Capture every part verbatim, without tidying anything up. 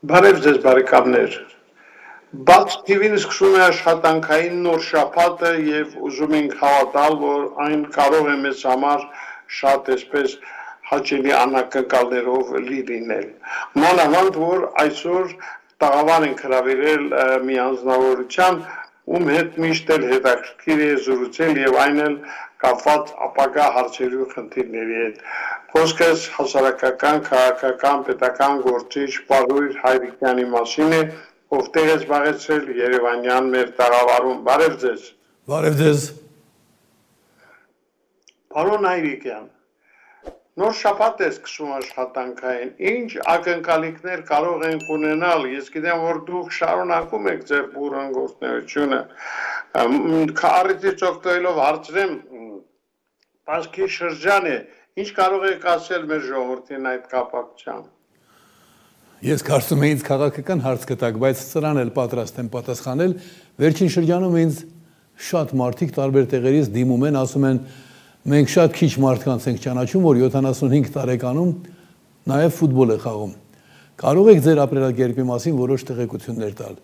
Բարև ձեզ բարեկամներ, բաց թիվին սկսում է աշխատանքային նոր շաբաթը և ուզում ենք հավատալ, որ այն կարող է մեզ համար շատ այսպես հաճելի անակնկալներով լի լինել։ Մանավանդ, որ այսօր տաղավար ենք հրավիրել մի անձնավորության, ում հետ միշտ էլ հետաքրքիր է զրուցել և այն էլ կապված ապագա հարցերի ու խնդիրների հետ։ Խոսքս հասարակական, քաղաքական, պետական գործիչ Պարույր Հայրիկյանի մասին է, ով տեղ է զբաղեցրել Երևանյան մեր տաղավարում։ Բարև ձեզ։ Բարև ձեզ։ Պարոն Հայրիկյան, նոր շաբաթ է սկսում աշխատանքային, ինչ ակնկալիքներ կարող ենք ունենալ, ես գիտեմ, որ դուք շարունակում եք ձեր բուրըն գործունեությունը, առիթից օգտվելով հարցրեմ, Պարսքի շրջան է, ինչ կարող եք ասել մեր ժողովրդին այդ կապակցությամբ։ Ես կարծում եմ ինձ քաղաքական հարց կտակ, բայց սրան էլ պատրաստ եմ պատասխանել, վերջին շրջանում ինձ շատ մարդիկ տարբեր տեղերից դիմում են, ասում են մենք շատ քիչ մարդկանց ենք ճանաչում, որ յոթանասունհինգ տարեկանում նաև ֆուտբոլ է խաղում։ Կարող եք ձեր ապրելակերպի մասին որոշ տեղեկություններ տալ։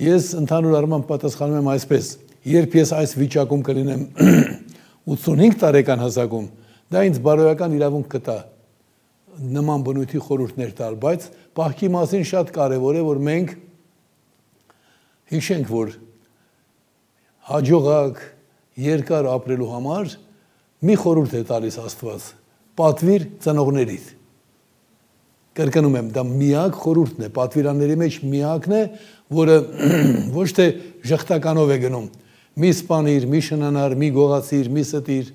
Ես ընդհանուր առմամբ պատասխանում եմ այսպես. երբ ես այս վիճակում կլինեմ ութսունհինգ տարեկան հասակում, դա ինձ բարոյական իրավունք կտա նման բնույթի խորհուրդներ տալ, բայց պահքի մասին շատ կարևոր է, որ մենք հիշենք, որ հաջողակ երկար ապրելու համար մի խորհուրդ է տալիս Աստված. պատվիր ծնողներիդ։ Կրկնում եմ, դա միակ խորհուրդն է, պատվիրանների մեջ միակն է, որը ոչ թե ժխտականով է գնում, մի սպանիր, մի շնանար, մի գողացիր, մի ստիր,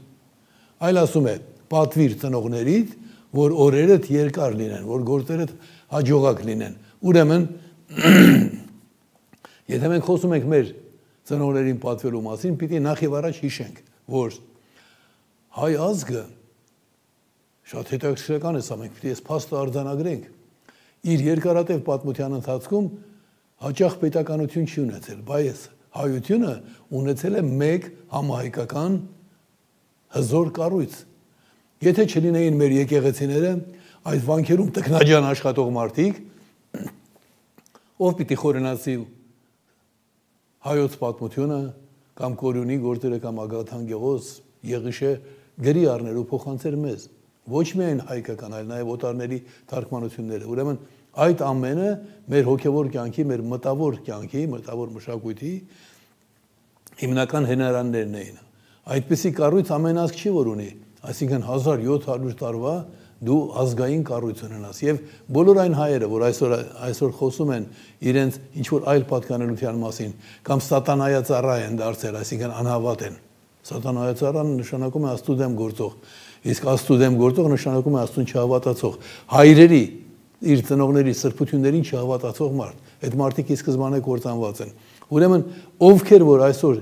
այլ ասում է, պատվիր ծնողներիդ, որ օրերդ երկար լինեն, որ գործերդ հաջողակ լինեն։ Ուրեմն, եթե մենք խոսում ենք մեր ծնողներին պատվելու մասին, պիտի նախ եւ առաջ հիշենք, որ հայ ազգը շատ հետաքրքրական է սա, մենք պիտի այս փաստը արձանագրենք, իր երկարատև պատմության ընթացքում հաճախ պետականություն չի ունեցել, բայց հայությունը ունեցել է մեկ համահայկական հզոր կառույց։ Եթե չլինեին մեր եկեղեցիները, այդ վանքերում տքնաջան աշխատող մարդիկ, ով պիտի խորենացի հայոց պատմությունը, կամ Կորյունի գործերը, կամ Ագաթան Գեղոս, Եղիշե գրի առներ ու փոխանցեր մեզ, ոչ միայն հայկական, այլ նաև օտարների թարգմանությունները։ Ուրեմն այդ ամենը մեր հոգևոր կյանքի, մեր մտավոր կյանքի, մտավոր մշակույթի հիմնական հենարաններն էին։ Այդպիսի կառույց ամեն ազգ չի որ ունի, այսինքն հազար յոթ հարյուր տարվա դու ազգային կառույց ունենաս եւ բոլոր այն հայերը, որ այսօր այսօր խոսում են իրենց ինչ որ այլ պատկանելության մասին, կամ սատանայածառայ են դարձել, այսինքն անհավատ են։ Սատանայածառան նշանակում է Աստծո դեմ գործող, իսկ Աստծո դեմ գործող նշանակում է Աստծուն չհավատացող, հայրերի իր ծնողների սրբություններին չհավատացող մարդ։ Այդ մարդիկ ի սկզբանե կործանված են։ Ուրեմն ովքեր որ այսօր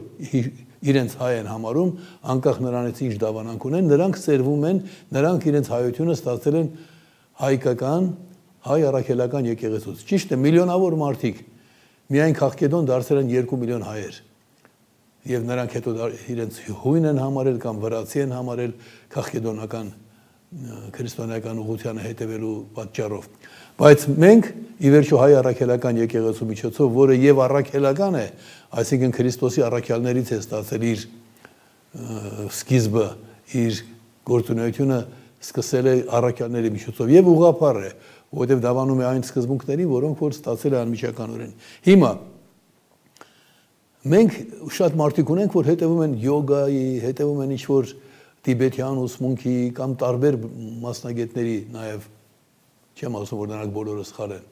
իրենց հայ են համարում, անկախ նրանից ինչ դավանանք ունեն, նրանք սերվում են, նրանք իրենց հայությունը ստացել են հայկական, հայ առաքելական եկեղեցուց։ Ճիշտ է, միլիոնավոր մարդիկ միայն Քաղկեդոն դարձել են երկու միլիոն հայեր։ Եվ նրանք հետո իրենց հույն են համարել կամ վրացի են համարել քաղկեդոնական քրիստոնեական ուղղությանը հետևելու պատճառով։ Բայց մենք ի վերջո հայ առաքելական եկեղեցու միջոցով, որը եւ առաքելական է, այսինքն Քրիստոսի առաքյալներից է ստացել իր սկիզբը, իր գործունեությունը սկսել է առաքյալների միջոցով եւ ուղղափառ է, որովհետեւ դավանում է այն սկզբունքներին, որոնք որ ստացել է անմիջականորեն։ Հիմա մենք շատ մարդիկ ունենք, որ հետևում են յոգայի, հետևում են ինչ-որ տիբետյան ուսմունքի կամ տարբեր մասնագետների նաև, չեմ ասում, որ նրանք բոլորը սխալ են,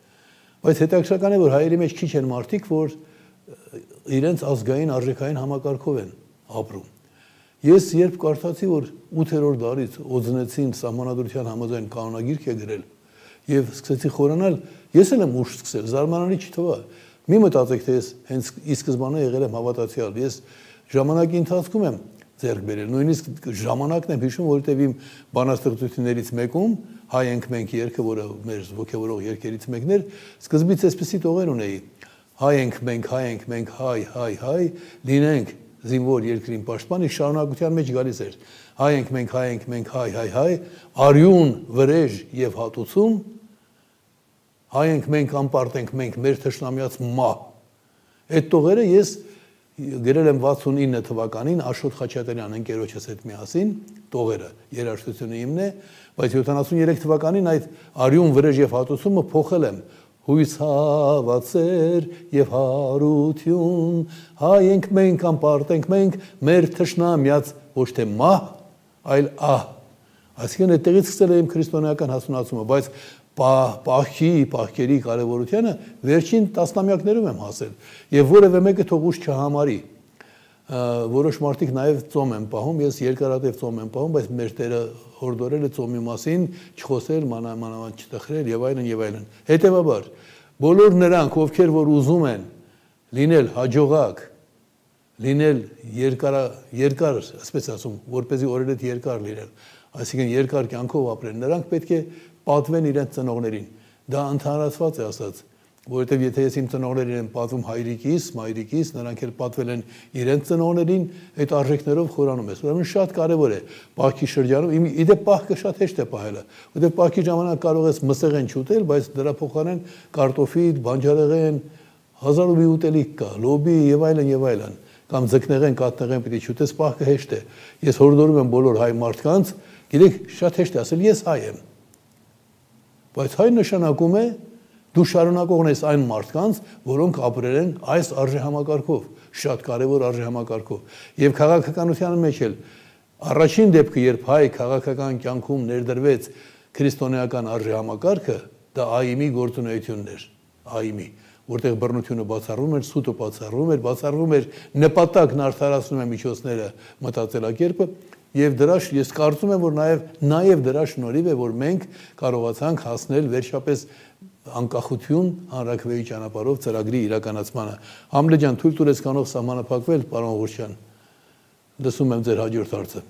բայց հետաքրքրական է, որ հայերի մեջ քիչ են մարդիկ, որ իրենց ազգային արժեքային համակարգով են ապրում։ Ես երբ կարդացի, որ ութերորդ դարից Օձնեցին սահմանադրության համաձայն կանոնագիրք է գրել եւ սկսեցի խորանալ, ես էլ եմ ուշ սկսել, զարմանալի չթվա։ Մի մտածեք, թե ես հենց ի սկզբանե եղել եմ հավատացյալ, ես ժամանակի ընթացքում եմ ձեռք բերել, նույնիսկ ժամանակն եմ հիշում, որովհետև իմ բանաստեղծություններից մեկում հայ ենք մենք երգը, որը մեր ոգևորող երգերից մեկն էր, սկզբից այսպեսի տողեր ունեի. հայ ենք մենք, հայ ենք մենք, հայ, հայ, հայ, լինենք զինվոր երկրին պաշտպան, իսկ շարունակության մեջ գալիս էր. հայ ենք մենք, հայ ենք մենք, հայ, հայ, հայ, արյուն, վրեժ եւ հատուցում հայ ենք մենք, անպարտ ենք մենք, մեր թշնամյաց մահ։ Այդ տողերը ես գրել եմ վաթսունինը թվականին Աշոտ Խաչատրյան ընկերոջս հետ միասին, տողերը, երաժշտությունը իմն է, բայց յոթանասուներեք թվականին այդ արյուն վրեժ եւ հատուցումը փոխել եմ հույս հավատեր եւ հարություն, հայ ենք մենք, անպարտ ենք մենք, մեր թշնամյաց ոչ թե մահ, այլ ահ։ Այսինքն այդտեղից սկսել եմ քրիստոնեական հասունացումը, բայց պահքի, պահքերի կարևորությանը վերջին տասնամյակներում եմ հասել եւ որևէ մեկը թող ուշ չհամարի։ Որոշ մարդիկ նաեւ ծոմ են պահում, ես երկարատև ծոմ եմ պահում, բայց մեր Տերը հորդորել է ծոմի մասին չխոսել, մանավանդ չտխրել եւ այլն եւ այլն։ Հետեւաբար բոլոր նրանք, ովքեր որ ուզում են լինել հաջողակ, լինել երկար, երկար, ասես ասում, որպեսզի օրերդ երկար լինել, այսինքն երկար կյանքով ապրեն, նրանք պետք է պատվեն իրենց ծնողներին։ Դա ընդհանրացված է ասած, որովհետև եթե ես իմ ծնողներին եմ պատվում հայրիկիս, մայրիկիս, նրանք էլ պատվել են իրենց ծնողներին, այդ արժեքներով խորանում ես։ Ուրեմն շատ կարևոր է պահքի շրջանում, իդեպ պահքը շատ հեշտ է պահելը, որովհետև պահքի ժամանակ կարող ես մսեղեն չուտել, բայց դրա փոխարեն կարտոֆիլ, բանջարեղեն, հազար ու մի ուտելիք կա, լոբի եւ այլն եւ այլն, կամ ձկնեղեն, կաթնեղեն պիտի չուտես, պահքը հեշտ է։ Ես հորդորում եմ բոլոր հայ մարդկանց, գիտեք, շատ հեշտ է ասել, ես հայ եմ։ Բայց հայ նշանակում է դու շարունակողն ես այն մարդկանց, որոնք ապրել են այս արժեհամակարգով, շատ կարևոր արժեհամակարգով։ Եվ քաղաքականության մեջ էլ առաջին դեպքը, երբ հայ քաղաքական կյանքում ներդրվեց քրիստոնեական արժեհամակարգը, դա ԱԻՄ-ի գործունեությունն էր, ԱԻՄ-ի, որտեղ բռնությունը բացառվում էր, սուտը բացառվում էր, բացառվում էր նպատակն արդարացնում է միջոցները մտածելակերպը, եւ դրա ես կարծում եմ, որ նաեւ նաեւ դրա շնորհիվ է, որ մենք կարողացանք հասնել վերջապես անկախություն հանրաքվեի ճանապարհով ծրագրի իրականացմանը։ Համլե ջան, թույլ տուրես կանով սահմանափակվել, պարոն Ղուրչյան։ Լսում եմ ձեր հաջորդ հարցը։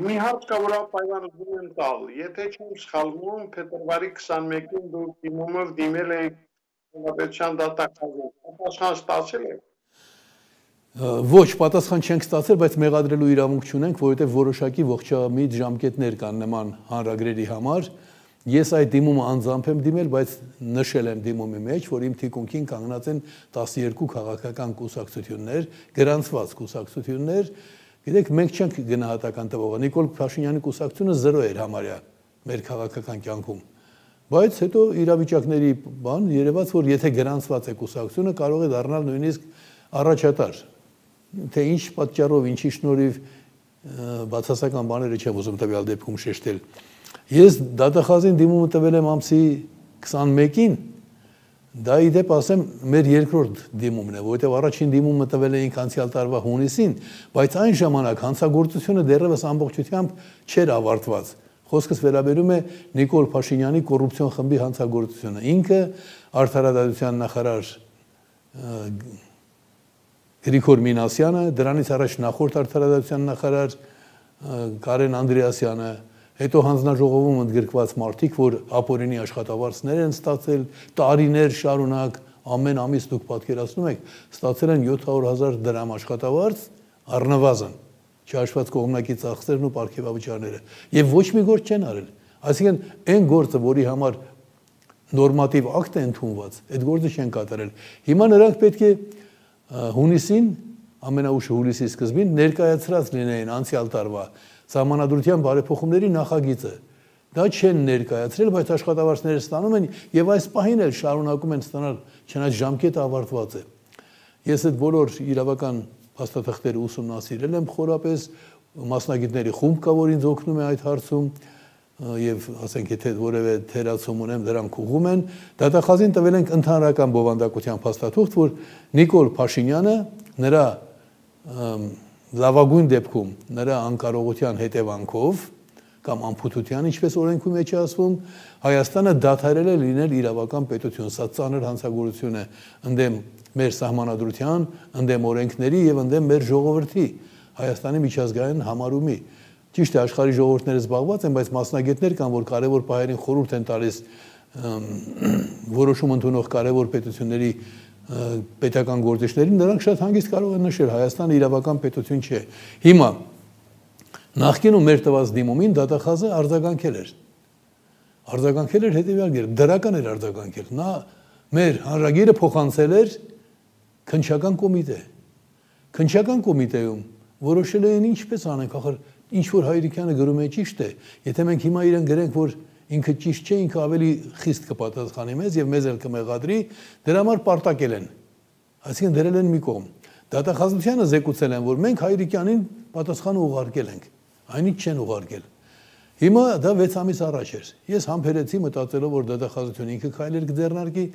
Մի հարց կա, որ պայմանավորվում եմ տալ։ Եթե չեմ սխալվում, փետրվարի քսանմեկին դուք դիմումով դիմել եք հանրապետության դատախազին։ Պատասխան ստացել եք։ Ոչ, պատասխան չենք ստացել, բայց մեղադրելու իրավունք չունենք, որովհետև որոշակի ողջամիտ ժամկետներ կան նման հանրագրերի համար։ Ես այդ դիմումը անձամբ եմ դիմել, բայց նշել եմ դիմումի մեջ, որ իմ թիկունքին կանգնած են տասներկու քաղաքական կուսակցություններ, գրանցված կուսակցություններ։ Գիտեք, մենք չենք գնահատական տվողը։ Նիկոլ Փաշինյանի կուսակցությունը զրո էր համարյա մեր քաղաքական կյանքում։ Բայց հետո իրավիճակների բան երևաց, որ եթե գրանցված է կուսակցությունը, կարող է դառնալ նույնիսկ առաջատար։ Թե ինչ պատճառով, ինչի շնորհիվ բացասական բաները չեմ ուզում տվյալ դեպքում շեշտել։ Ես դատախազին դիմումը տվել եմ ամսի քսանմեկին, դա ի դեպ ասեմ մեր երկրորդ դիմումն է, որովհետև առաջին դիմումը տվել էինք անցյալ տարվա հունիսին, բայց այն ժամանակ հանցագործությունը դեռևս ամբողջությամբ չէր ավարտված։ Խոսքս վերաբերում է Նիկոլ Փաշինյանի կոռուպցիոն խմբի հանցագործությունը։ Ինքը արդարադատության նախարար Գրիգոր Մինասյանը, դրանից առաջ նախորդ արդարադատության նախարար Կարեն Անդրեասյանը, հետո հանձնաժողովում ընդգրկված մարդիկ, որ ապօրինի աշխատավարձներ են ստացել, տարիներ շարունակ, ամեն ամիս դուք պատկերացնում եք, ստացել են յոթ հարյուր հազար դրամ աշխատավարձ առնվազն, չհաշված կողմնակի ծախսերն ու պարգևավճարները, եւ ոչ մի գործ չեն արել։ Այսինքն այն գործը, որի համար նորմատիվ ակտ է ընդունված, այդ գործը չեն կատարել։ Հիմա նրանք պետք է հունիսին, ամենաուշը հուլիսի սկզբին ներկայացրած լինեին անցյալ տարվա սահմանադրության բարեփոխումների նախագիծը։ Դա չեն ներկայացրել, բայց աշխատավարձները ստանում են եւ այս պահին էլ շարունակում են ստանալ, չնայած ժամկետը ավարտված է։ Ես այդ բոլոր իրավական փաստաթղթերը ուսումնասիրել եմ խորապես, մասնագետների խումբ կա, որ ինձ օգնում է այդ հարցում, եւ ասենք եթե որևէ թերացում ունեմ, դրանք ուղում են։ Դատախազին տվել ենք ընդհանրական բովանդակության փաստաթուղթ, որ Նիկոլ Փաշինյանը նրա լավագույն դեպքում նրա անկարողության հետևանքով կամ անփութության, ինչպես օրենքի մեջ է ասվում, Հայաստանը դադարել է լինել իրավական պետություն, սա ծանր հանցագործություն է ընդդեմ մեր սահմանադրության, ընդդեմ օրենքների եւ ընդդեմ մեր ժողովրդի, Հայաստանի միջազգային համարումի։ Ճիշտ է, աշխարհի ժողովուրդները զբաղված են, բայց մասնագետներ կան, որ կարևոր պահերին խորհուրդ են տալիս որոշում ընդունող կարևոր պետությունների պետական գործիչներին, նրանք շատ հանգիստ կարող են նշել, Հայաստանը իրավական պետություն չէ։ Հիմա նախկինում մեր տված դիմումին դատախազը արձագանքել էր։ արձագանքել էր հետևյալ կերպ, դրական էր արձագանքել։ Նա մեր հանրագիրը փոխանցել էր քննչական կոմիտե։ Քննչական կոմիտեում որոշել էին ինչպես անենք, ախր ինչ որ Հայրիկյանը գրում է ճիշտ է, եթե մենք հիմա իրեն գրենք, որ ինքը ճիշտ չէ, ինքը ավելի խիստ կպատասխանի մեզ եւ մեզ էլ կմեղադրի, դրա համար պարտակել են։ Այսինքն դրել են մի կողմ։ Դատախազությանը զեկուցել են, որ մենք Հայրիկյանին պատասխանը ուղարկել ենք, այնինչ չեն ուղարկել։ Հիմա դա վեց ամիս առաջ էր։ Ես համբերեցի մտածելով, որ դատախազությունը ինքը քայլեր կձեռնարկի,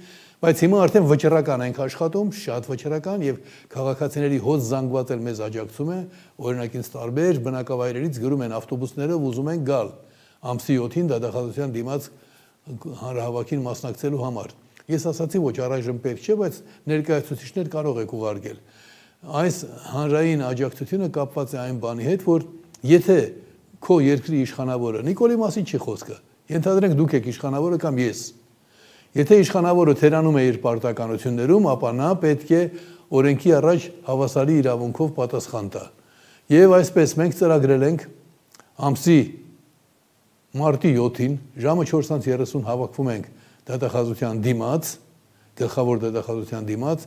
բայց հիմա արդեն վճռական ենք աշխատում, շատ վճռական եւ քաղաքացիների հոց զանգված էլ մեզ աջակցում է, օրինակ ինձ տարբեր բնակավայրերից գրում են ավտոբուսներով ուզում են գալ ամսի յոթին դատախազության դիմաց հանրահավաքին մասնակցելու համար։ Ես ասացի ոչ, առայժմ պետք չէ, բայց ներկայացուցիչներ կարող եք ուղարկել։ Այս հանրային աջակցությունը կապված է այն բանի հետ, որ եթե քո երկրի իշխանավորը, Նիկոլի մասին չի խոսքը, ենթադրենք դուք եք իշխանավորը կամ ես։ Եթե իշխանավորը թերանում է իր պարտականություններում, ապա նա պետք է օրենքի առաջ հավասարի իրավունքով պատասխան տա։ Եվ այսպես մենք ծրագրել ենք ամսի մարտի յոթին ժամը չորս երեսուն հավաքվում ենք դատախազության դիմաց, գլխավոր դատախազության դիմաց,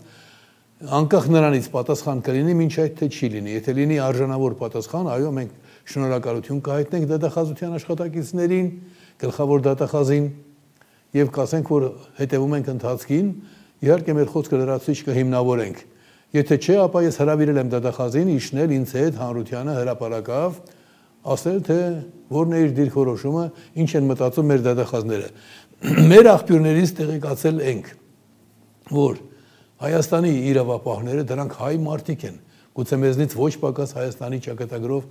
անկախ նրանից պատասխան կլինի, մինչ այդ թե չի լինի։ Եթե լինի արժանավոր պատասխան, այո, մենք շնորհակալություն կհայտնենք դատախազության աշխատակիցներին, գլխավոր դատախազին եւ կասենք, որ հետեւում ենք ընթացքին, իհարկե մեր խոսքը լրացուցիչ կհիմնավորենք։ Եթե չէ, ապա ես հրավիրել եմ դատախազին իջնել ինձ հետ հանրությանը հրապարակավ, ասել թե որն է իր դիրքորոշումը, ինչ են մտածում մեր դատախազները։ Մեր աղբյուրներից տեղեկացել ենք, որ Հայաստանի իրավապահները դրանք հայ մարդիկ են, գուցե մեզնից ոչ պակաս Հայաստանի ճակատագրով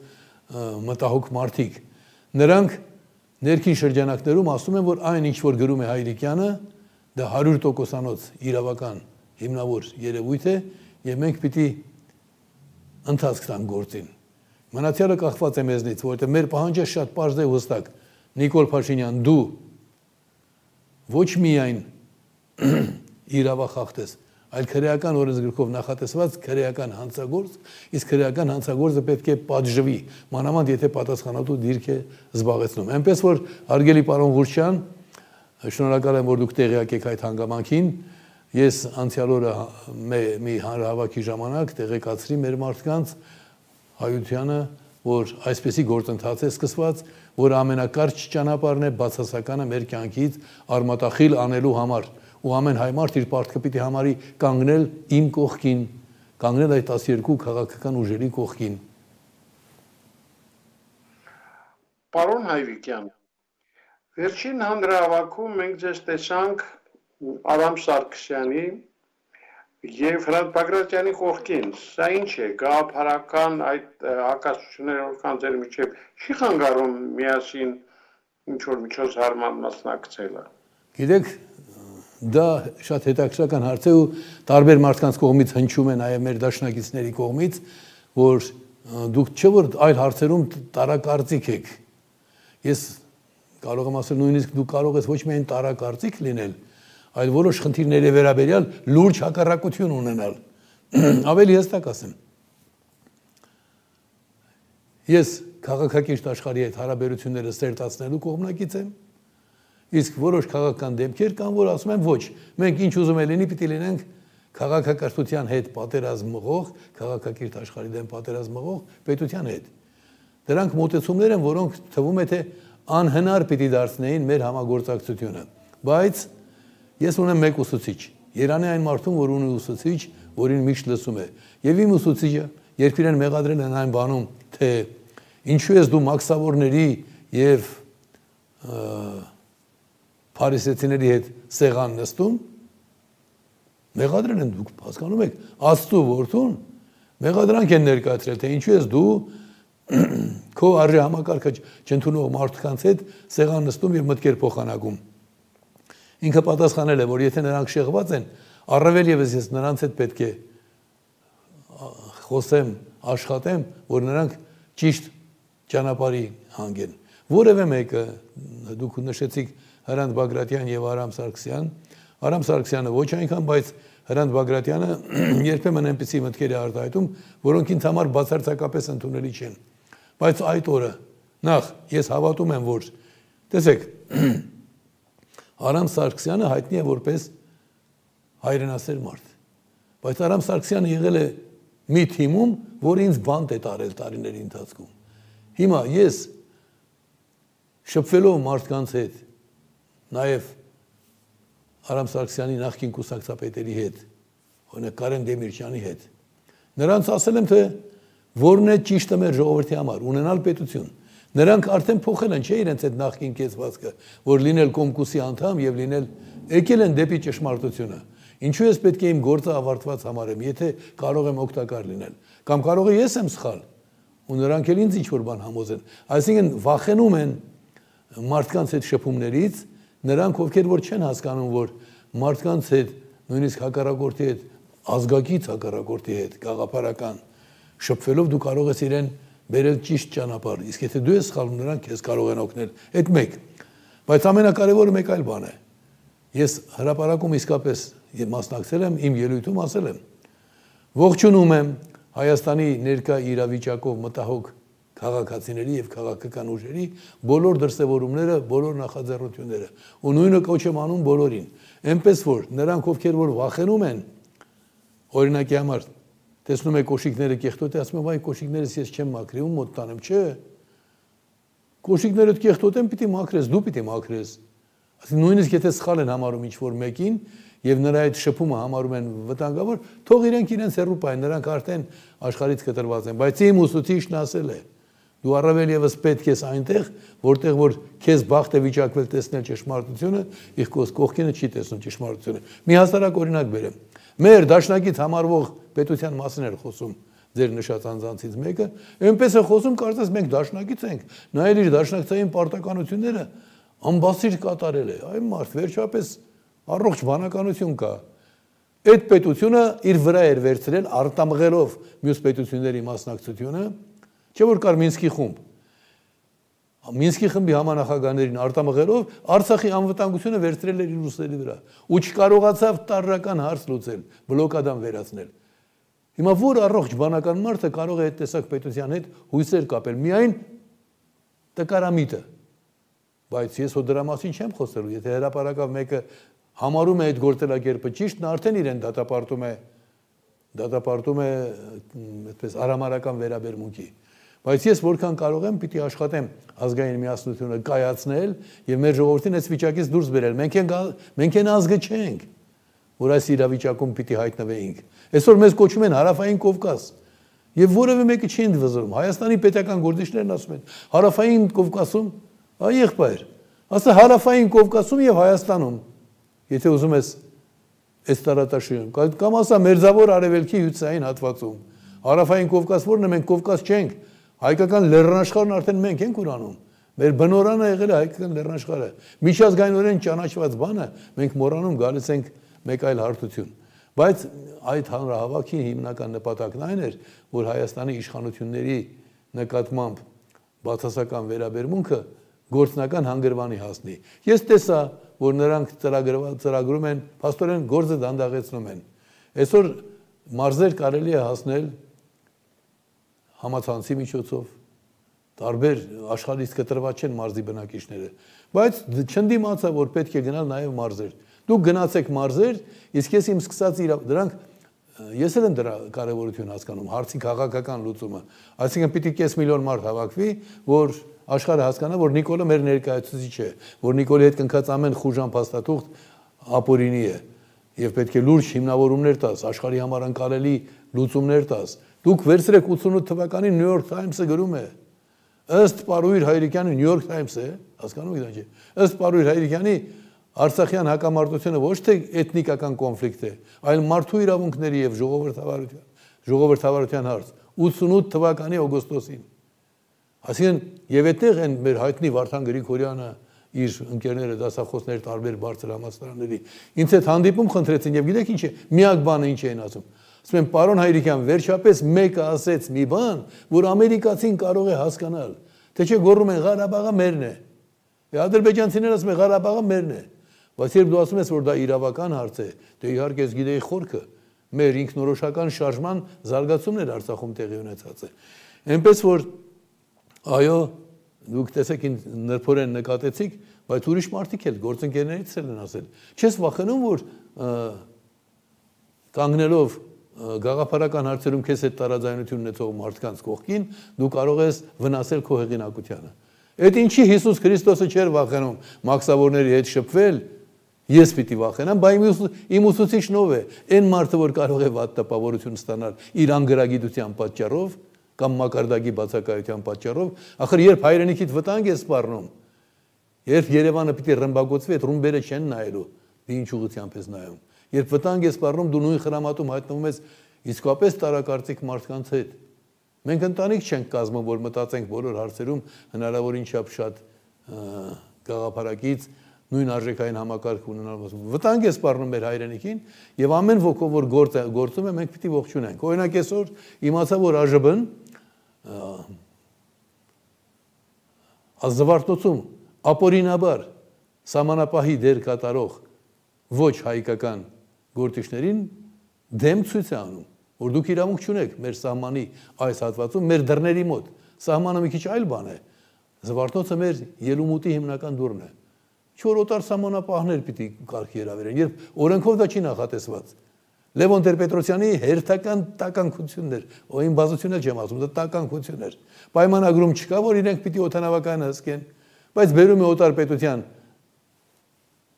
մտահոգ մարդիկ։ Նրանք ներքին շրջանակներում ասում են, որ այն ինչ որ գրում է Հայրիկյանը, դա հարյուր տոկոսանոց իրավական հիմնավոր երևույթ է եւ մենք պիտի ընթացք տանք գործին։ Մնացյալը կախված է մեզնից, որովհետեւ մեր պահանջը շատ պարզ է ու հստակ։ Նիկոլ Փաշինյան, դու ոչ միայն իրավախախտ ես, այլ քրեական օրենսգրքով նախատեսված քրեական հանցագործ, իսկ քրեական հանցագործը պետք է պատժվի, մանավանդ եթե պատասխանատու դիրք է զբաղեցնում։ Այնպես որ հարգելի պարոն Ղուրչյան, շնորհակալ եմ, որ դուք տեղյակ եք այդ հանգամանքին։ Ես անցյալ օրը մի հանրահավաքի ժամանակ տեղեկացրի մեր մարդկանց հայությանը, որ այսպեսի գործընթաց է սկսված, որ ամենակարճ ճանապարհն է բացասականը մեր կյանքից արմատախիլ անելու համար։ Ու ամեն հայ մարդ իր պարտքը պիտի համարի կանգնել իմ կողքին, կանգնել այդ տասներկու քաղաքական ուժերի կողքին։ Պարոն Հայրիկյան, վերջին հանրահավաքում մենք ձեզ տեսանք Արամ Սարգսյանի եւ Հրանտ Բագրատյանի կողքին։ Սա ինչ է, գաղափարական այդ հակասությունները որքան ձեր միջև չի խանգարում միասին ինչ որ միջոցառման մասնակցելը։ Գիտեք, դա շատ հետաքրքրական հարց է ու տարբեր մարդկանց կողմից հնչում է նաև մեր դաշնակիցների կողմից, որ դուք չէ որ այլ հարցերում տարակարծիք եք։ Ես կարող եմ ասել նույնիսկ դու կարող ես ոչ միայն տարակարծիք լինել, այլ որոշ խնդիրների վերաբերյալ լուրջ հակառակություն ունենալ։ Ավելի հստակ ասեմ։ Ես քաղաքակիրթ աշխարհի հետ հարաբերությունները սերտացնելու կողմնակից եմ, իսկ որոշ քաղաքական դեպքեր կան, որ ասում են ոչ, մենք ինչ ուզում է լինի, պիտի լինենք քաղաքակրթության հետ պատերազմ մղող, քաղաքակիրթ աշխարհի դեմ պատերազմ մղող պետության հետ։ Դրանք մոտեցումներ են, որոնք թվում է թե անհնար պիտի դարձնեին մեր համագործակցությունը։ Բայց ես ունեմ մեկ ուսուցիչ, Երանի այն մարդուն, որ ունի ուսուցիչ, որին միշտ լսում է։ Եվ իմ ուսուցիչը, երբ իրեն մեղադրել են այն բանում, թե ինչու ես դու մաքսավորների եւ փարիսեցիների հետ սեղան նստում, մեղադրել են, դուք հասկանում եք, Աստծո որդուն մեղադրանք են ներկայացրել, թե ինչու ես դու քո արժե համակարգը չընդունող մարդկանց հետ սեղան նստում եւ մտքեր փոխանակում։ Ինքը պատասխանել է, որ եթե նրանք շեղված են, առավել եւս ես նրանց հետ պետք է խոսեմ, աշխատեմ, որ նրանք ճիշտ ճանապարհի հանգեն։ Որևէ մեկը դուք նշեցիք Հրանտ Բագրատյան եւ Արամ Սարգսյան, Արամ Սարգսյանը ոչ այնքան, բայց Հրանտ Բագրատյանը երբեմն այնպիսի մտքեր է արտահայտում, որոնք ինձ համար բացարձակապես ընդունելի չեն։ Բայց այդ օրը նախ ես հավատում եմ, որ տեսեք, Արամ Սարգսյանը հայտնի է որպես հայրենասեր մարդ։ Բայց Արամ Սարգսյանը եղել է մի թիմում, որ ինձ բանտ է տարել տարիների ընթացքում։ Հիմա ես շփվելով մարդկանց հետ, նաև Արամ Սարգսյանի նախկին կուսակցապետերի հետ, օրինակ Կարեն Դեմիրճյանի հետ, նրանց ասել եմ, թե որն է ճիշտը մեր ժողովրդի համար, ունենալ պետություն։ Նրանք արդեն փոխել են, չէ՞ իրենց այդ նախկին կեցվածքը, որ լինել Կոմկուսի անդամ եւ լինել եկել են դեպի ճշմարտությունը։ Ինչու ես պետք է իմ գործը ավարտված համարեմ, եթե կարող եմ օգտակար լինել, կամ կարող է ես եմ սխալ, ու նրանք էլ ինձ ինչ-որ բան համոզեն։ Այսինքն վախենում են մարդկանց հետ շփումներից, նրանք ովքեր որ չեն հասկանում, որ մարդկանց հետ, նույնիսկ հակառակորդի հետ, ազգակից հակառակորդի հետ, գաղափարական շփվելով դու կարող ես իրեն բերել ճիշտ ճանապարհ, իսկ եթե դու ես սխալվում, նրանք քեզ կարող են օգնել։ Այդ մեկ։ Բայց ամենակարևորը մեկ այլ բան է։ Ես հրապարակում իսկապես մասնակցել եմ, իմ ելույթում ասել եմ. ողջունում եմ Հայաստանի ներկա իրավիճակով մտահոգ քաղաքացիների եւ քաղաքական ուժերի բոլոր դրսևորումները, բոլոր նախաձեռնությունները, ու նույնը կոչ եմ անում բոլորին։ Այնպես որ նրանք ովքեր որ վախենում են, օրինակի համար տեսնում եք կոշիկները կեղտոտ է, ասում եմ, այ կոշիկներս ես չեմ մաքրի, ում մոտ տանեմ, չէ։ Կոշիկներդ կեղտոտ են, պիտի մաքրես, դու պիտի մաքրես։ Այսինքն նույնիսկ եթե սխալ են համարում ինչ-որ մեկին եւ նրա այդ շփումը համարում են վտանգավոր, թող իրենք իրենց հեռու պահեն, նրանք արդեն աշխարհից կտրված են, բայց իմ ուսուցիչն ասել է. դու առավել եւս պետք ես այնտեղ, որտեղ որ քեզ բախտ է վիճակվել տեսնել ճշմարտությունը, իսկ կողքինը չի տեսնում ճշմարտությունը։ Մի հասարակ օրինակ բերեմ։ Մեր դաշնակից համարվող պետության մասին էր խոսում ձեր նշած անձանցից մեկը, այնպես է խոսում, կարծես մենք դաշնակից ենք, նայել իր դաշնակցային պարտականությունները ամբասիր կատարել է։ Այ մարդ, վերջապես առողջ բանականություն կա։ Այդ պետությունը իր վրա էր վերցրել արտամղելով մյուս պետությունների մասնակցությունը, չէ որ կար Մինսկի խումբ։ Մինսկի խմբի համանախագահներին արտամղելով Արցախի անվտանգությունը վերցրել էր իր ուսերի վրա ու չկարողացավ տարրական հարց լուծել, բլոկադան վերացնել։ Հիմա որ առողջ բանական մարդը կարող է այդ տեսակ պետության հետ հույսեր կապել, միայն տկարամիտը։ Բայց ես հո դրա մասին չեմ խոսելու, եթե հրապարակավ մեկը համարում է այդ գործելակերպը ճիշտ, նա արդեն իրեն դատապարտում է, դատապարտում է այդպես արամարական վերաբերմունքի։ Բայց ես որքան կարող եմ, պիտի աշխատեմ ազգային միասնությունը կայացնել եւ մեր ժողովրդին այս վիճակից դուրս բերել։ Մենք են մենք են ազգը չենք, որ այս իրավիճակում պիտի հայտնվեինք։ Այսօր մեզ կոչում են Հարավային Կովկաս եւ որևէ մեկը չի ընդվզում։ Հայաստանի պետական գործիչներն ասում են Հարավային Կովկասում, այ եղբայր, ասա Հարավային Կովկասում եւ Հայաստանում, եթե ուզում ես այս տարածաշրջանում, կամ ասա Մերձավոր Արևելքի հյուսիսային հատվածում։ Հարավային Կովկաս որն է, մենք Կովկաս չենք։ Հայկական լեռնաշխարհն արդեն մենք ենք ուրանում։ Մեր բնորանը եղել է հայկական լեռնաշխարհը։ Միջազգայինորեն ճանաչված բանը մենք մոռանում գալիս ենք մեկ այլ հարթություն։ Բայց այդ հանրահավաքի հիմնական նպատակն այն էր, որ Հայաստանի իշխանությունների նկատմամբ բացասական վերաբերմունքը գործնական հանգրվանի հասնի։ Ես տեսա, որ նրանք ծրագրում են, փաստորեն գործը դանդաղեցնում են։ Այսօր մարզեր կարելի է հասնել համացանցի միջոցով, տարբեր աշխարհից կտրված չեն մարզի բնակիչները, բայց չընդդիմացա, որ պետք է գնալ նաև մարզեր։ Դուք գնացեք մարզեր, իսկ ես իմ սկսած դրանք ես էլ եմ դրա կարևորություն հասկանում, հարցի քաղաքական լուծումը։ Այսինքն պիտի կես միլիոն մարդ հավաքվի, որ աշխարհը հասկանա, որ Նիկոլը մեր ներկայացուցիչ է, որ Նիկոլի հետ կնքած ամեն խուժան փաստաթուղթ ապօրինի է, եւ պետք է լուրջ հիմնավորումներ տաս, աշխարհի համար անկարելի լուծումներ տաս։ Դուք վերցրեք ութսունութ թվականին New York Times-ը գրում է, ըստ Պարուհիր Հայրիկյանի New York Times-ը, հասկանում եք դա չէ։ Ըստ Պարուհիր Հայրիկյանի Արցախյան հակամարտությունը ոչ թե էթնիկական կոնֆլիկտ է, այլ մարդու իրավունքների եւ ժողովրդավարության, ժողովրդավարության հարց ութսունութ թվականի օգոստոսին։ Այսինքն եւ այդտեղ են մեր հայտնի Վարդան Գրիգորյանը իր ընկերները դասախոսներ տարբեր բարձր համալսարանների ինձ հետ հանդիպում խնդրեցին եւ գիտեք ինչ է, միակ բանը ինչ էին ասում։ Ասում են պարոն Հայրիկյան, վերջապես մեկը ասեց մի բան, որ ամերիկացին կարող է հասկանալ, թե չէ գոռում են Ղարաբաղը մերն է։ Ադրբեջանցիները ասում են Ղարաբաղը մերն է։ Բայց երբ դու ասում ես, որ դա իրավական հարց է, դե իհարկե ես գիտեի խորքը, մեր ինքնորոշական շարժման զարգացումն էր Արցախում տեղի ունեցած է։ Այնպես որ այո, դուք տեսեք նրբորեն նկատեցիք, բայց ուրիշ մարդիկ էլ գործընկերներից էլ են ասել։ Չես վախենում, որ կանգնելով գաղափարական հարցերում քեզ հետ տարաձայնություն ունեցող մարդկանց կողքին դու կարող ես վնասել քո հեղինակությանը։ Այդ ինչի Հիսուս Քրիստոսը չէր վախենում մաքսավորների հետ շփվել, ես պիտի վախենամ, բայց իմ ուսուցիչն ով է, այն մարդը, որ կարող է վատ տպավորություն ստանալ իր անգրագիտության պատճառով կամ մակարդակի բացակայության պատճառով, ախր երբ հայրենիքիդ վտանգ է սպառնում, երբ Երևանը պիտի ռմբակոծվի, այդ ռումբերը չեն նայելու, դու ինչ ուղղությամբ ես նայում։ Երբ վտանգ է սպառնում, դու նույն խրամատում հայտնվում ես իսկապես տարակարծիք մարդկանց հետ։ Մենք ընտանիք չենք կազմում, որ մտածենք բոլոր հարցերում հնարավորին չափ շատ գաղափարակից նույն արժեքային համակարգ ունենալ։ Վտանգ է սպառնում մեր հայրենիքին եւ ամեն ոգով որ գործում է, մենք պիտի ողջունենք։ Օրինակ այսօր իմացա, որ ԱԺԲ-ն ազնվարտոցում ապօրինաբար սահմանապահի դեր կատարող ոչ հայկական գործիչներին դեմ ցույց է անում, որ դուք իրավունք չունեք մեր սահմանի այս հատվածում, մեր դռների մոտ։ Սահմանը մի քիչ այլ բան է։ Զվարթնոցը մեր ելումուտի հիմնական դուռն է։ Չոր օտար սահմանապահներ պիտի կարգի հրավիրեն, երբ օրենքով դա չի նախատեսված։ Լևոն Տեր-Պետրոսյանի հերթական տականքությունն էր, օ իմ բազություն էլ չեմ ասում, դա տականքություն էր։ Պայմանագրում չկա, որ իրենք պիտի օդանավակայանը հսկեն, բայց բերում է օտար պետության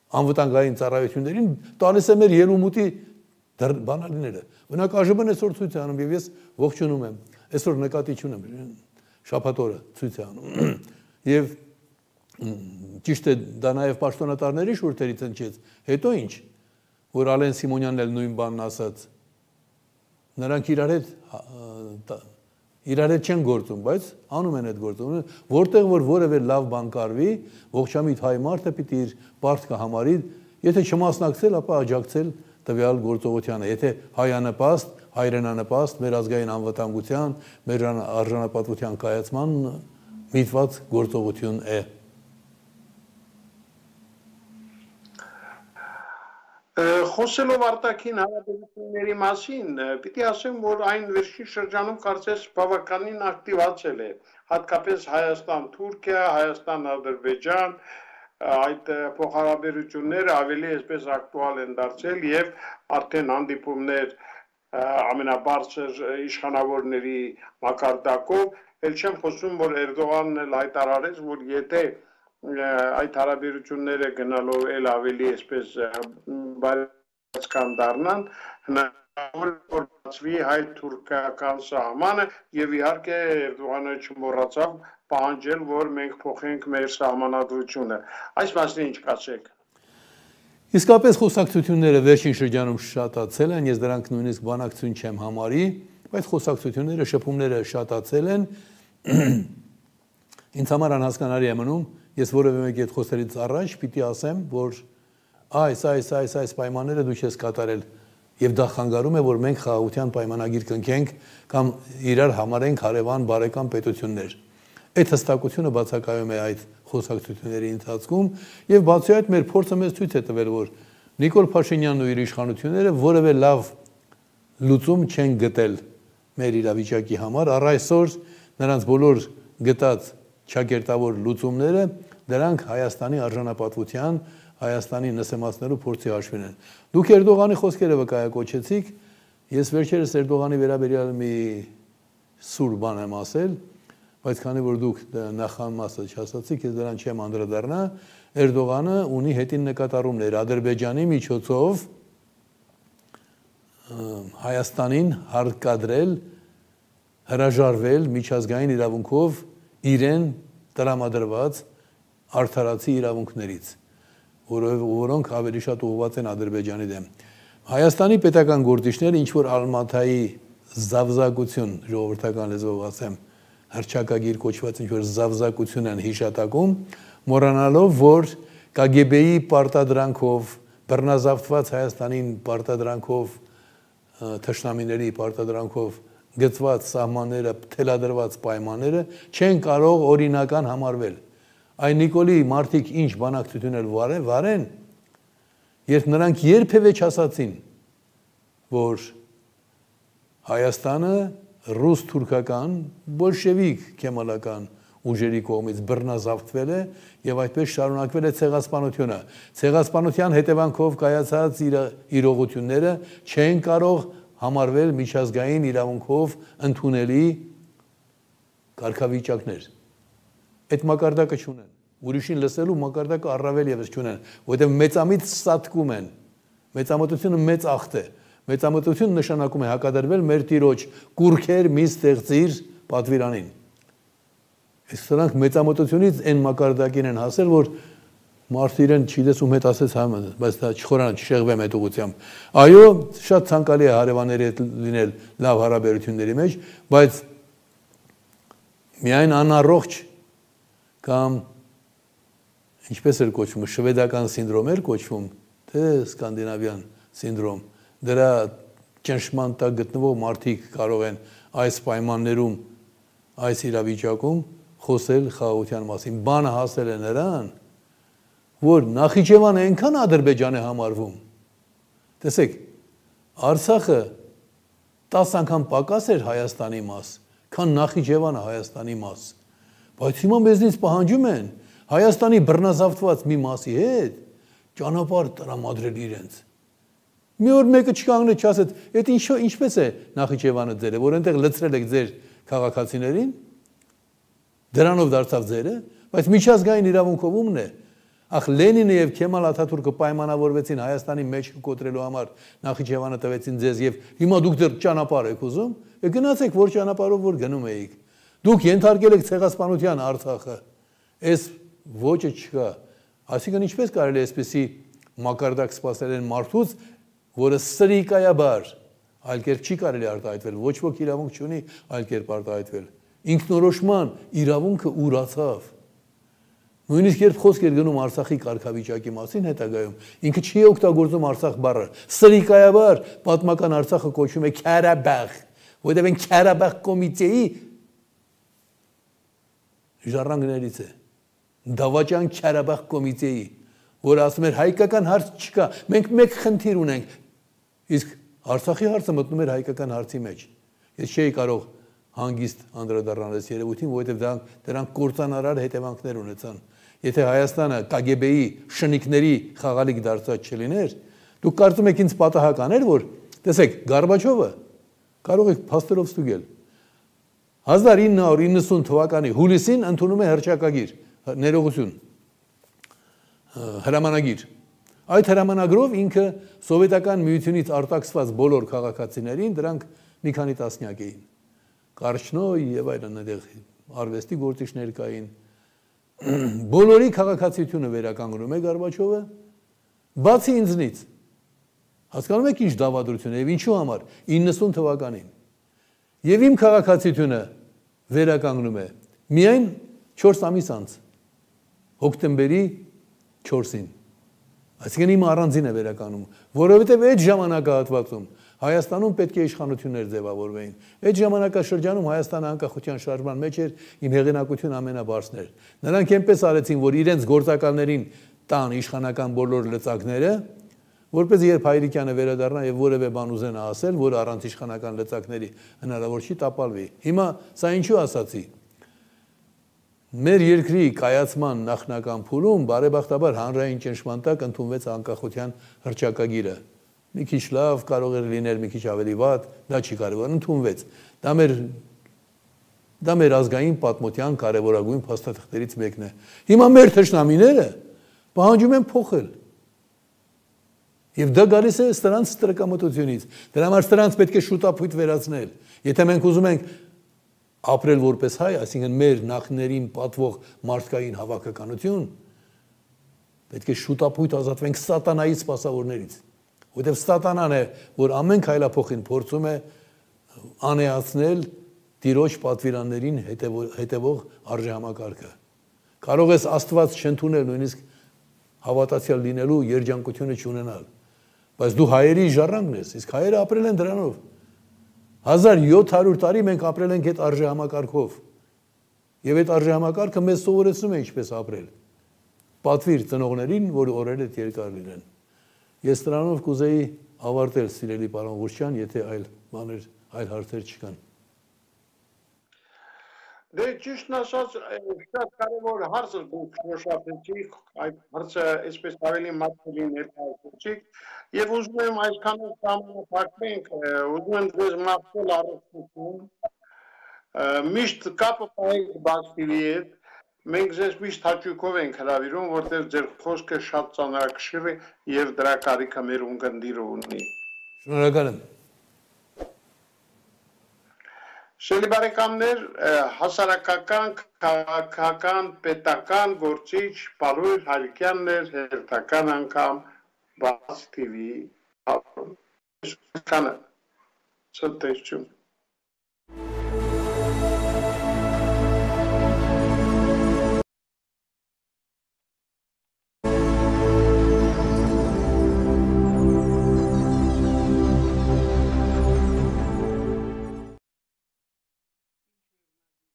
անվտանգային ծառայություններին տալիս է մեր ելումուտի բանալիները։ Բնակ ԱԺԲ-ն այսօր ցույց է անում եւ ես ողջունում եմ։ Այսօր նկատի չունեմ, շաբաթ օրը ցույց է անում։ Եվ ճիշտ է, դա նաեւ պաշտոնատարների շուրթերից ընչեց։ Հետո ինչ, որ Ալեն Սիմոնյանն էլ նույն բանն ասաց։ Նրանք իրար հետ իրար հետ չեն գործում, բայց անում են այդ գործը։ Որտեղ որ որևէ լավ բան կարվի, ողջամիտ հայ մարդը պիտի իր պարտքը համարի, եթե չմասնակցել, ապա աջակցել տվյալ գործողությանը։ Եթե հայանպաստ, հայրենանպաստ, մեր ազգային անվտանգության, մեր արժանապատվության կայացման միտված գործողություն է։ Խոսելով արտաքին հարաբերությունների մասին, պիտի ասեմ, որ այն վերջին շրջանում կարծես բավականին ակտիվացել է, հատկապես Հայաստան-Թուրքիա, Հայաստան-Ադրբեջան, այդ փոխհարաբերությունները ավելի այսպես ակտուալ են դարձել եւ արդեն հանդիպումներ ամենաբարձր իշխանավորների մակարդակով, ել չեմ խոսում, որ Էրդողանն էլ հայտարարեց, որ եթե այդ հարաբերությունները գնալով էլ ավելի այսպես բարեկցական դառնան, հնարավոր որ բացվի հայ-թուրքական սահմանը եւ իհարկե Էրդողանը չմոռացավ պահանջել, որ մենք փոխենք մեր սահմանադրությունը։ Այս մասին ինչ կասեք։ Իսկապես խոսակցությունները վերջին շրջանում շատացել են, ես դրանք նույնիսկ բանակցություն չեմ համարի, բայց խոսակցությունները, շփումները շատացել են։ Ինձ համար անհասկանալի է մնում, ես որևէ մեկի հետ խոսելից առաջ պիտի ասեմ, որ այս, այս, այս, այս պայմանները դու չես կատարել եւ դա խանգարում է, որ մենք խաղաղության պայմանագիր կնքենք կամ իրար համարենք հարևան բարեկամ պետություններ։ Այդ հստակությունը բացակայում է այդ խոսակցությունների ընթացքում եւ բացի այդ մեր փորձը մեզ ցույց է տվել, որ Նիկոլ Փաշինյանն ու իր իշխանությունները որևէ լավ լուծում չեն գտել մեր իրավիճակի համար, առ այսօր նրանց բոլոր գտած չակերտավոր լուծումները դրանք Հայաստանի արժանապատվության, Հայաստանի նսեմացնելու փորձի հաշվին են։ Դուք Էրդողանի խոսքերը վկայակոչեցիք, ես վերջերս Էրդողանի վերաբերյալ մի սուր բան եմ ասել, բայց քանի որ դուք նախամասը չասացիք, ես դրան չեմ անդրադառնա, Էրդողանը ունի հետին նկատառումներ Ադրբեջանի միջոցով Հայաստանին հարկադրել, հրաժարվել միջազգային իրավունքով իրեն տրամադրված արդարացի իրավունքներից, որոնք ավելի շատ ուղղված են Ադրբեջանի դեմ։ Հայաստանի պետական գործիչները ինչ որ Ալմաթայի զավզակություն, ժողովրդական լեզվով ասեմ, հռչակագիր կոչված ինչ որ զավզակություն են հիշատակում, մոռանալով, որ Կ Գ B-ի պարտադրանքով, բռնազավթված Հայաստանին պարտադրանքով, թշնամիների պարտադրանքով գծված սահմանները, թելադրված պայմանները չեն կարող օրինական համարվել։ Այն Նիկոլի մարդիկ ինչ բանակցություններ վարեն, երբ նրանք երբևէ չասացին, որ Հայաստանը ռուս-թուրքական, բոլշևիկ քեմալական ուժերի կողմից բռնազավթվել է եւ այդպես շարունակվել է ցեղասպանությունը։ Ցեղասպանության հետևանքով կայացած իրողությունները չեն կարող համարվել միջազգային իրավունքով ընդունելի կարգավիճակներ։ Այդ մակարդակը չունեն։ Ուրիշին լսելու մակարդակը առավել եւս չունեն, որովհետեւ մեծամիտ ստատկում են։ Մեծամտությունը մեծ ախտ է։ Մեծամտություն նշանակում է հակադրվել մեր Տիրոջ կուրքեր մի ստեղծիր պատվիրանին։ Այս սրանք մեծամտությունից այն մակարդակին են հասել, որ մարդը իրեն չի տեսում հետ ասեց համը, բայց դա չխորանա, չշեղվեմ այդ ուղղությամբ։ Այո, շատ ցանկալի է հարևանների հետ լինել լավ հարաբերությունների մեջ, բայց միայն անառողջ կամ ինչպես էր կոչվում, շվեդական սինդրոմ էր կոչվում, թե սկանդինավյան սինդրոմ։ Դրա ճնշման տակ գտնվող մարդիկ կարող են այս պայմաններում, այս իրավիճակում խոսել խաղաղության մասին։ Բանը հասել է նրան, որ Նախիջևանը այնքան Ադրբեջան է համարվում։ Տեսեք, Արցախը տասը անգամ պակաս էր Հայաստանի մաս, քան Նախիջևանը Հայաստանի մաս։ Բայց հիմա մեզնից պահանջում են Հայաստանի բռնազավթված մի մասի հետ ճանապարհ տրամադրել իրենց։ Մի օր մեկը չկանգնեց, չասեց, «Էդ ինչո ինչպես է Նախիջևանը ձերը, որ այնտեղ լցրել եք ձեր քաղաքացիներին, դրանով դարձավ ձերը, բայց միջազգային իրավունքով ումն է»։ Ախ Լենինը եւ Քեմալ Աթաթուրքը պայմանավորվեցին Հայաստանի մեջ կոտրելու համար, Նախիջևանը տվեցին ձեզ եւ հիմա դուք դեռ ճանապարհ եք ուզում, է գնացեք որ ճանապարհով որ գնում էիք։ Դուք ենթարկել եք ցեղասպանության Արցախը։ Այս ոճը չկա։ Այսինքն ինչպես կարելի է այսպեսի մակարդակ սպասել են մարդուց, որը սրիկայաբար այլ կերպ չի կարելի արտահայտվել, ոչ ոք իրավունք չունի այլ կերպ արտահայտվել։ Ինքնորոշման իրավունքը ուրացավ։ Նույնիսկ երբ խոսք էր գնում Արցախի կարգավիճակի մասին հետագայում, ինքը չի օգտագործում Արցախ բառը։ Սրիկայաբար պատմական Արցախը կոչվում է Քարաբաղ, որովհետև այն Քարաբաղ կոմիտեի ժառանգներից է։ Դավաճան Քարաբաղ կոմիտեի, որ ասում էր հայկական հարց չկա, մենք մեկ խնդիր ունենք, իսկ Արցախի հարցը մտնում էր հայկական հարցի մեջ։ Ես չէի կարող հանգիստ անդրադառնալ այս երևույթին, որովհետև դրանք կործանարար հետևանքներ ունեցան։ Եթե Հայաստանը Կ Գ B-ի շնիկների խաղալիք դարձած չլիներ, դուք կարծում եք ինձ պատահական էր, որ տեսեք, Գորբաչովը կարող եք փաստերով ստուգել։ հազար ինը հարյուր իննսուն թվականի հուլիսին ընդունում է հռչակագիր, ներողություն, հրամանագիր։ Այդ հրամանագրով ինքը սովետական միությունից արտաքսված բոլոր քաղաքացիներին դրանք մի քանի տասնյակ էին։ Կարճնոյ եւ այլն այնտեղ արվեստի գործիչներ կային։ Բոլորի քաղաքացիությունը վերականգնում է Գորբաչովը, բացի ինձնից։ Հասկանում եք ինչ դավադրություն է եւ ինչու համար իննսուն թվականին։ Եվ իմ քաղաքացիությունը վերականգնում է միայն չորս ամիս անց, հոկտեմբերի չորսին։ Այսինքն իմ առանձին է վերականգնում, որովհետև այդ ժամանակահատվածում Հայաստանում պետք է իշխանություններ ձևավորվեին։ Այդ ժամանակաշրջանում Հայաստանը անկախության շարժման մեջ էր, իմ հեղինակություն ամենաբարձրն էր։ Նրանք այնպես արեցին, որ իրենց գործակալներին տան իշխանական բոլոր լծակները, որպես երբ Հայրիկյանը վերադառնա եւ որևէ բան ուզենա ասել, որ առանց իշխանական լծակների հնարավոր չի տապալվի։ Հիմա սա ինչու ասացի։ Մեր երկրի կայացման նախնական փուլում բարեբախտաբար հանրային ճնշման տակ ընդունվեց անկախության հռչակագիրը։ Մի քիչ լավ կարող էր լինել, մի քիչ ավելի վատ, դա չի կարևոր, ընդունվեց։ Դա մեր դա մեր ազգային պատմության կարևորագույն փաստաթղթերից մեկն է։ Հիմա մեր թշնամիները պահանջում են փոխել։ Եվ դա գալիս է սրանց ստրկամտությունից։ Դրա համար սրանց պետք է շուտապույտ վերացնել։ Եթե մենք ուզում ենք ապրել որպես հայ, այսինքն մեր նախներին պատվող մարդկային հավաքականություն, պետք է շուտապույտ ազատվենք սատանայի սպասավորներից։ Որտեւ սատանան է, որ ամեն քայլափոխին փորձում է անեացնել Տիրոջ պատվիրաններին հետևող արժեհամակարգը։ Կարող ես Աստված չընդունել, նույնիսկ հավատացյալ լինելու երջանկությունը չունենալ, բայց դու հայերի ժառանգն ես, իսկ հայերը ապրել են դրանով։ հազար յոթ հարյուր տարի մենք ապրել ենք այդ արժեհամակարգով։ Եվ այդ արժեհամակարգը մեզ սովորեցնում է ինչպես ապրել։ Պատվիր ծնողներին, որ օրեր այդ երկար լինեն։ Ես դրանով կուզեի ավարտել, սիրելի պարոն Ղուրջյան, եթե այլ բաներ, այլ հարցեր չկան։ Դե ճիշտն ասած, շատ կարևոր հարց է դուք շոշափեցիք, այդ հարցը այսպես ավելի մատչելի ներկայացրեցիք, եւ ուզում եմ այսքան ժամանակակմենք, ուզում եմ ձեզ մաղթել առողջություն, միշտ կապը պահեք Բաց թի վի-ի հետ, մենք ձեզ միշտ հաճույքով ենք հրավիրում, որտեղ ձեր խոսքը շատ ծանրակշիռ է եւ դրա կարիքը մեր ունկնդիրը ունի։ Շնորհակալ եմ։ Շելի բարեկամներ, հասարակական, քաղաքական, պետական գործիչ Պարույր Հարիկյանն էր, հերթական անգամ Բաց թի վի-ի։ Ցտեսություն։